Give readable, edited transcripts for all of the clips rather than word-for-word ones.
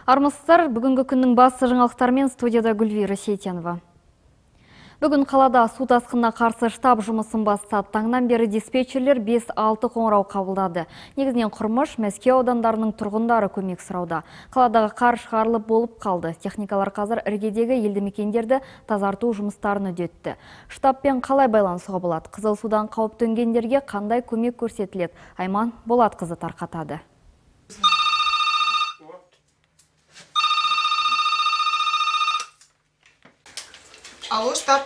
Армысыздар, бүгінгі күннің басты жаңалықтарымен студияда Гүлвира Сейтенова. Бүгін қалада су тасқынына қарсы штаб жұмысын бастады. Таңнан бері диспетчерлер 5-6 қоңырау қабылдады. Негізінен Құрмыш, Мәскеу аудандарының тұрғындары көмек сұрауда. Қаладағы қар шығарылып болып қалды. Техникалар қазір іргедегі елді мекендерді тазарту жұмыстарын үдетті. Штабпен қалай байланысуға болады? Қызыл судан қауіп төнгендерге қандай көмек көрсетіледі? Айман Болатқызы тарқатады. Алло, штаб.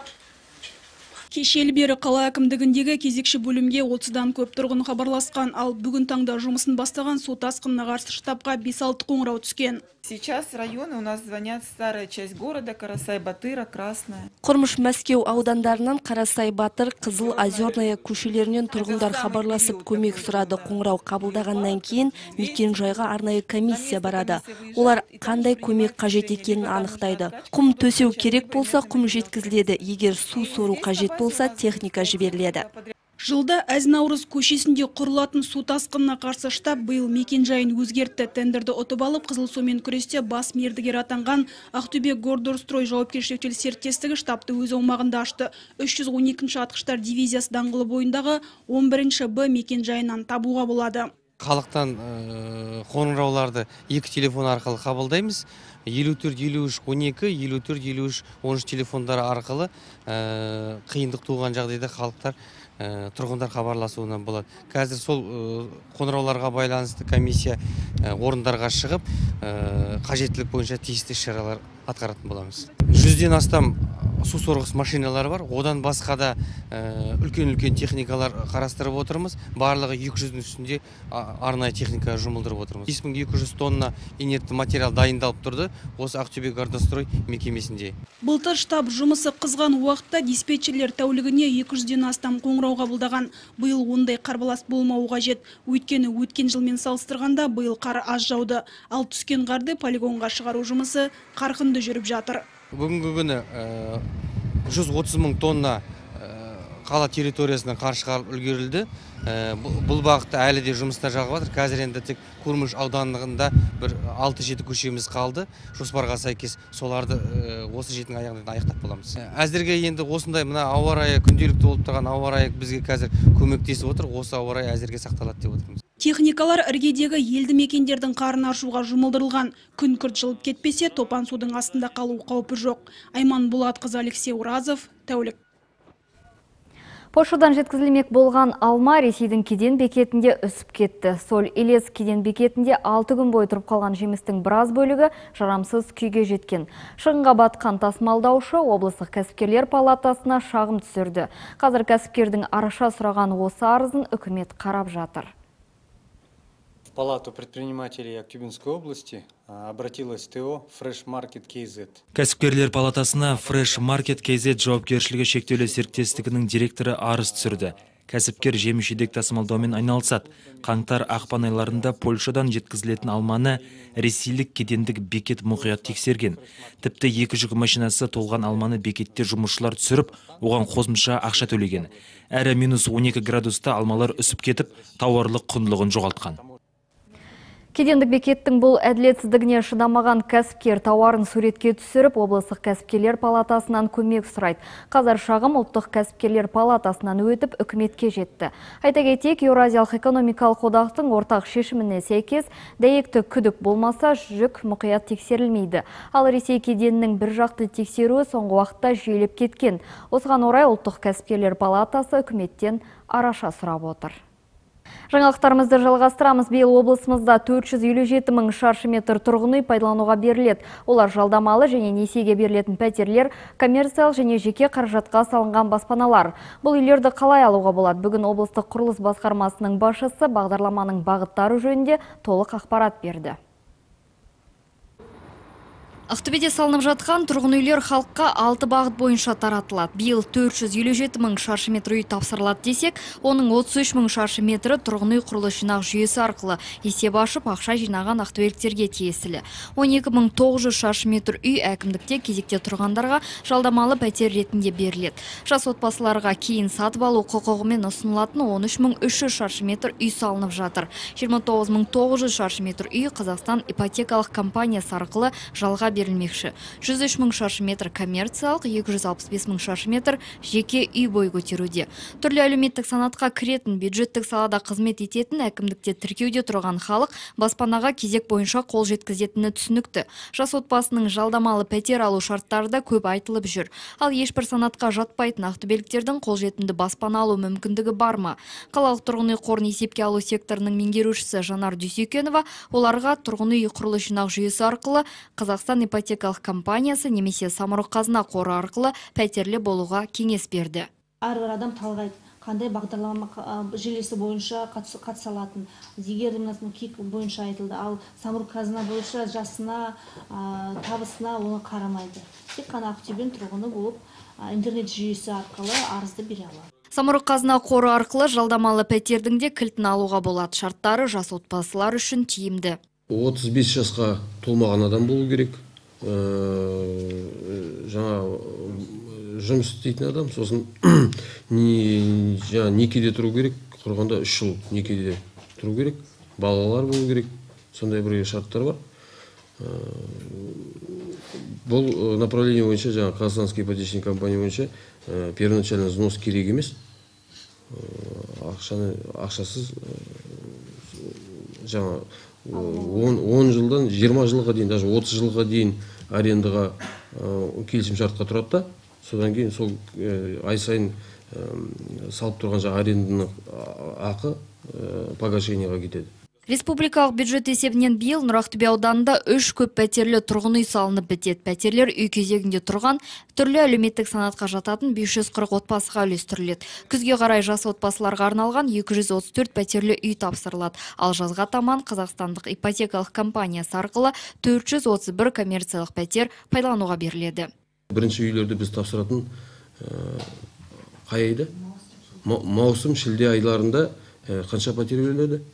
Кешелі бері қала әкімдігіндегі кезекші бөлімге 30-дан көп тұрғын хабарласқан, ал бүгін таңда жұмысын бастаған су тасқынына қарсы штабқа 5-6 қоңырау түскен. Сейчас районы у нас звонят: старая часть города, Карасай-Батыра, Красная. Құрмыш, Мәскеу аудандарынан Карасай-Батыр, Қызыл, Озерная көшелерінен тұрғындар хабарласып көмек сұрады. Қоңырау қабылдағаннан кейін мекен жайға арнайы комиссия барады. Олар қандай көмек қажет екенін анықтайды. Құм төсеу керек болса, құм жеткізіледі. Егер су сору қажет болса, техника жіберіледі. Жылда Әз-Наурыз көшесінде құрылатын су тасқынына қарсы штаб биыл мекен жайын өзгертті. Тендерді ұтып алып, қызыл сумен күресте бас мердігер атанған Ақтөбе Гордорстрой жауапкершілігі серіктестігі штабты өз аумағында ашты. 312-ші атқыштар дивизиясы даңғылы бойындағы 11-ші Б мекен жайынан табуға болады. Халықтан қоңырауларды 2 телефон арқылы қабылдаймыз. 54-53-12, 54-53-13 телефондары арқылы қиындық туған жағдайда халықтар тұрғындар хабарласуына болады. Қазір сол қоңырауларға байланысты комиссия орындарға шығып, қажеттілік бойынша тиісті шаралар атқаратын боламыз. 100-ден астам су сорғыш машиналары бар. Одан басқа да үлкен-үлкен техникалар қарастырып отырмыз. Барлығы 200-дің үстінде арнайы техника жұмылдырып отырмыз. 5200 тонна инертті материал дайындалып тұрды осы Ақтөбе Гордорстрой мекемесінде. Былтыр штаб жұмысы қызған уақытта диспетчерлер тәулігіне 200-ден астам қоңырау қабылдаған. Биыл ондай қарбалас болмауы қажет. Өйткені өткен жылмен салыстырғанда биыл қар аз жауды. Ал түскен қарды полигонға шығару жұмысы қарқынды жүріп жатыр. Бүгінгі күні 130 мың тонна қала территориясынан қар шығарылып үлгерілді. Бұл бағытта әлі де жұмыстар жалғап жатыр. Қазір енді тек Құрмыш ауданында бір 6-7 көшеміз қалды. Жоспарға сәйкес соларды осы жетінің аяғында аяқтап боламыз. Әзірге енді осындай мына ауа райы, күнделікті болып тұрған ауа райы бізге қазір көмектесіп отыр. Осы ауа райы әзірге сақталады деп отырмыз. Техникалар іргедегі елді мекендердің қарын аршуға жұмылдырылған. Күн күрт жылып кетпесе, топан судың астында қалу қаупі жоқ. Айман Болатқызы, Алексей Уразов, тәулік. Польшадан жеткізілмек болған алма Ресейдің кеден бекетінде үсіп кетті. Соль Илес кеден бекетінде 6 күн бойы тұрып қалған жемістің біраз бөлігі жарамсыз күйге жеткен. Шығынға батқан тасымалдаушы облыстық кәсіпкерлер палатасына шағым түсірді. Қазір кәсіпкердің араша сұраған осы арызын үкімет қарап жатыр. В Палату предпринимателей Актюбинской области обратилась ТО Fresh Market KZ. Кәсіпкерлер палатасына Fresh Market KZ жауапкершілігі шектеулі серіктестігінің директоры арыз түсірді. Кәсіпкер жеміс-жидек тасымалдаумен айналысады. Қаңтар-ақпан айларында Польшадан жеткізілетін алманы ресейлік кедендік бекет мұқият тексерген. Тіпті 2 жүк машинасы толған алманы бекетте жұмысшылар түсіріп, оған қосымша ақша төлеген. Әрі -12 градуста алмалар үсіп кетіп, тауарлық құндылығын жоғалтқан. Кедендік бекеттің бұл әділетсіздігіне шыдамаған кәсіпкер тауарын суретке түсіріп, облыстық кәсіпкерлер палатасынан көмек сұрайды. Қазір шағым ұлттық кәсіпкерлер палатасынан өтіп үкіметке жетті. Айта кетейік, Еуразиялық экономикалық одақтың ортақ шешіміне сәйкес дәйекті күдік болмаса жүк мұқият тексерілмейді. Ал Ресей кеденінің бір жақты тексеруі соңғы уақытта жүйелеп кеткен. Осыған орай ұлттық кәсіпкерлер палатасы үкіметтен араша сұрап отыр. Жаңалықтарымызды жалғастырамыз. Биыл облысымызда 457 мың шаршы метр тұрғын үй пайдалануға беріледі. Олар жалдамалы және несиеге берілетін пәтерлер, коммерциялық және жеке қаражатқа салынған баспаналар. Бұл үйлерді қалай алуға болады? Бүгін облыстық құрылыс басқармасының басшысы бағдарламаның бағыттары жөнінде толық ақпарат берді. Ақтөбеде салынып жатқан тұрғын үйлер халыққа 6 бағыт бойынша таратылады. Биыл 457 мың шаршы метр үй тапсырылады десек, оның 33 мың шаршы метрі тұрғын үй құрылыс жинақ жүйесі арқылы есеп ашып ақша жинаған ақтөбеліктерге тиесілі. 12.900 шаршы метр үй әкімдікте кезекте тұрғандарға жалдамалы пәтер ретінде беріледі. Жас отбасыларға кейін сатып алу құқығымен ұсынылатын 13.300 шаршы метр үй салынып жатыр. 29.900 шаршы метр үй Қазақстан ипотекалық компаниясы арқылы жалға берілмекші. 103 мың шаршы метр коммерциялық, 265 мың шаршы метр жеке үй бой көтеруде. Түрлі әлеуметтік санатқа кіретін, бюджеттік салада қызмет ететін, әкімдікте тіркеуде тұрған халық баспанаға кезек бойынша қол жеткізетіні түсінікті. Жас отбасының жалдамалы пәтер алу шарттары да көп айтылып жүр. Ал ешбір санатқа жатпайтын ақтөбеліктердің қолжетімді баспана алу мүмкіндігі бар ма? Қалалық тұрғын үй қорын есепке алу секторының меңгерушісі Жанар Дүйсекенова оларға тұрғын үй құрылыс жинақ жүйесі арқылы Қазақстан ипотекалық компаниясы немесе самұрық қазына қоры арқылы пәтерлі болуға кеңес берді. Әрбір адам талғайды, қандай бағдарлама желісі бойынша қатыса алатын. Егер кек бойынша айтылды, ал самұрық қазына бойынша жасына, табысына оны қарамайды. Тек қана Ақтөбенің тұрғыны болып, интернет жүйесі арқылы арызды бере алады. Самұрық қазына қоры арқылы жалдамалы пәтердің де кілтін алуға болады. Шарттары жас отбасылар үшін тиімді. 35 жасқа толмаған адам болу керек. Жаңа жұмыс істейтін адам, сосын некеде тұру керек, құрғанда 3 жыл некеде тұру керек, балалар болу керек, сондай бір шарттар бар. Бұл направление бойынша, жаңа Казахстанский ипотечный компания бойынша первоначально взнос керек емес, ақшасыз жаңа 10 жылдан 20 жылға дейін, даже 30 жылға дейін арендаға келісім шартқа тұрады да, содан кейін сол ай сайын салып тұрған жаңа аренданың ақы погашениеға кетеді. Республикалық бюджет есебінен биыл Нұр-Ақтөбе ауданында 3 көп пәтерлі тұрғын үй салынып бітеді. Пәтерлер үй кезегінде тұрған түрлі әлеуметтік санатқа жататын 540 отбасыға үлестіріледі. Күзге қарай жас отбасыларға арналған 234 пәтерлі үй тапсырылады. Ал жазға таман Қазақстандық ипотекалық компаниясы арқылы 431 коммерциялық пәтер пайдалануға беріледі. Бірінші үйлерді біз тапсыратын қай айда? Маусым, шілде айларында қанша пәтер беріледі?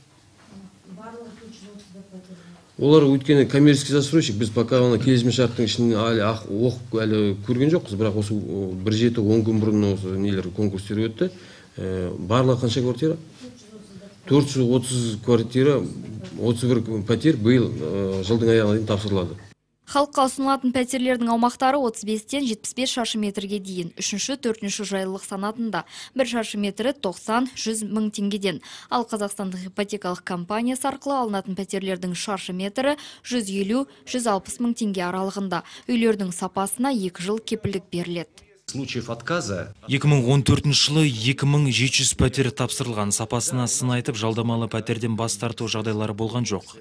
Олар өйткені коммерческий застройщик, біз пока келісім шарттың ішінде оқып әлі көрген жоқпыз, бірақ осы 1-7-10 күн бұрын осы нелер конкурстер өтті. Барлығы қанша квартира? 430 квартира, 31 пәтер биыл жылдың аяғына дейін тапсырылады. Халыққа ұсынылатын пәтерлердің аумақтары 35-тен 75 шаршы метрге дейін. 3-4 жайлылық санатында 1 шаршы метрі 90-100 мың теңгеден. Ал Қазақстандық ипотекалық компаниясы арқылы алынатын пәтерлердің шаршы метрі 150-160 мың теңге аралығында. Үйлердің сапасына 2 жыл кепілдік беріледі. Случаев отказа 2014 жылы 2700 пәтер тапсырылған, сапасына сын айтып жалдамалы пәтерден бас тарту жағдайлары болған жоқ.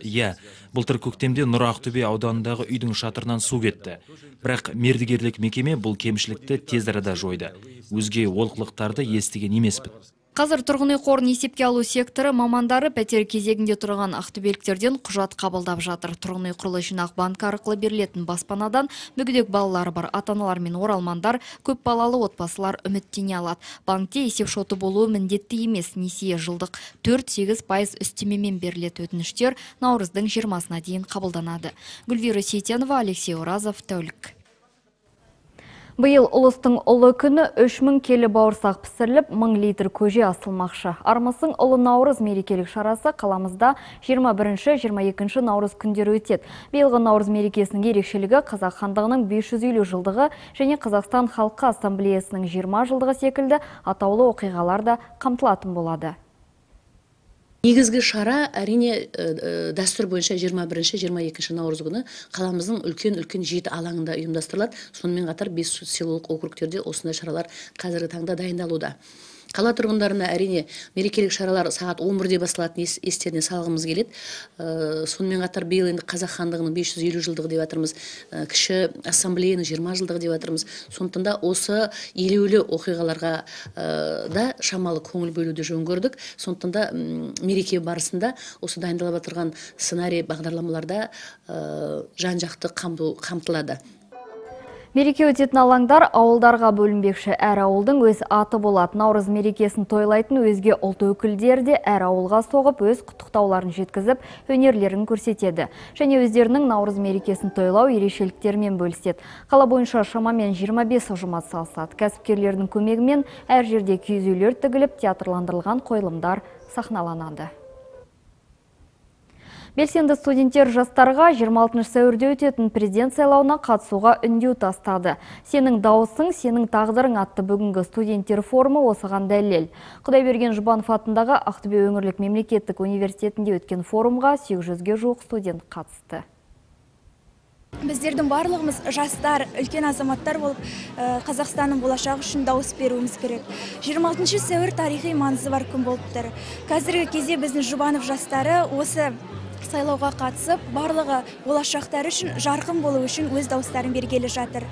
Былтыр көктемде Нұр-Ақтөбе ауданындағы үйдің шатырынан су кетті. Бірақ мердігерлік мекеме бұл кемшілікті тез арада жойды. Өзге олқылықтарды естіген емеспін. Қазір тұрғын үй қорын есепке алу секторы мамандары пәтер кезегінде тұрған ақтөбеліктерден құжат қабылдап жатыр. Тұрғын үй құрылыс жинақ банкі арқылы берілетін баспанадан мүгедек балалары бар ата-аналар мен оралмандар, көп балалы отбасылар үміттене алады. Банкте есеп шоты болуы міндетті емес, несие жылдық 4-8% үстемемен берілетін өтініштер наурыздың 20-сына дейін қабылданады. Гүлвира Сейтенова, Алексей Оразов, тәулік. Биыл ұлыстың ұлы күні 3000 келі бауырсақ пісіріліп, 1000 литр көже асылмақшы. Армысың ұлы наурыз мерекелік шарасы қаламызда 21-22 наурыз күндері өтеді. Биылғы наурыз мерекесінің ерекшелігі қазақ хандығының 550 жылдығы және Қазақстан халқы ассамблеясының 20 жылдығы секілді атаулы оқиғалар да қамтылатын болады. Негізгі шара әрине дәстүр бойынша 21-22 наурыз күні қаламыздың үлкен 7 алаңында ұйымдастырылады. Сонымен қатар 5 селолық округтерде осындай шаралар қазіргі таңда дайындалуда. Қала тұрғындарына әрине мерекелік шаралар сағат 11-де басталатын естеріне салғымыз келеді. Сонымен қатар биыл енді қазақ хандығының 550 жылдығы деп жатырмыз, кіші ассамблеяның 20 жылдығы деп жатырмыз. Сондықтан да осы елеулі оқиғаларға да шамалы көңіл бөлуді жөн көрдік. Сондықтан да мереке барысында осы дайындалып отырған сценарий бағдарламаларда жан-жақты қамтылады. Мереке өтетін алаңдар ауылдарға бөлінбекші. Әр ауылдың өз аты болады. Наурыз мерекесін тойлайтын өзге ұлт өкілдері де әр ауылға соғып, өз құттықтауларын жеткізіп, өнерлерін көрсетеді. Және өздерінің Наурыз мерекесін тойлау ерекшеліктерімен бөліседі. Қала бойынша шамамен 25 ұжым атсалысады. Кәсіпкерлердің көмегімен әр жерде киіз үйлер тігіліп, театрландырылған қойылымдар сахналанады. Белсенді студенттер жастарға 26 сәуірде өтетін президент сайлауына қатысуға үндеу тастады. Сенің дауысың, сенің тағдырың атты бүгінгі студенттер форумы осыған дәлел. Құдайберген Жұбанов атындағы Ақтөбе өңірлік мемлекеттік университетінде өткен форумға 800-ге жуық студент қатысты. Біздердің барлығымыз жастар, үлкен азаматтар болып, Қазақстанның болашағы үшін дауыс беруіміз керек. 26 сәуір тарихи маңызы бар күн болып тұр. Қазіргі кезде біздің Жұбанов жастары осы сайлауға қатысып, барлығы болашақтары үшін, жарқын болу үшін өз дауыстарын бергелі жатыр.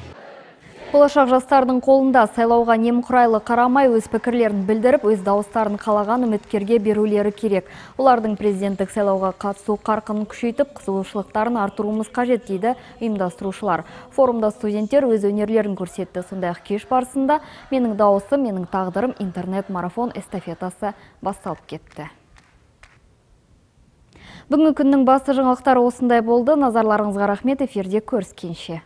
Болашақ жастардың қолында сайлауға немқұрайлы қарамай өз пікірлерін білдіріп, өз дауыстарын қалаған үміткерге берулері керек. Олардың президенттік сайлауға қатысу қарқынын күшейтіп, қызығушылықтарын артыруымыз қажет дейді ұйымдастырушылар. Форумда студенттер өз өнерлерін көрсетті. Сондай-ақ кеш барысында менің дауысым, менің тағдырым интернет-марафон эстафетасы басталып кетті. Бүгінгі күннің басты жаңалықтары осындай болды. Назарларыңызға рахмет. Эфирде көріскенше.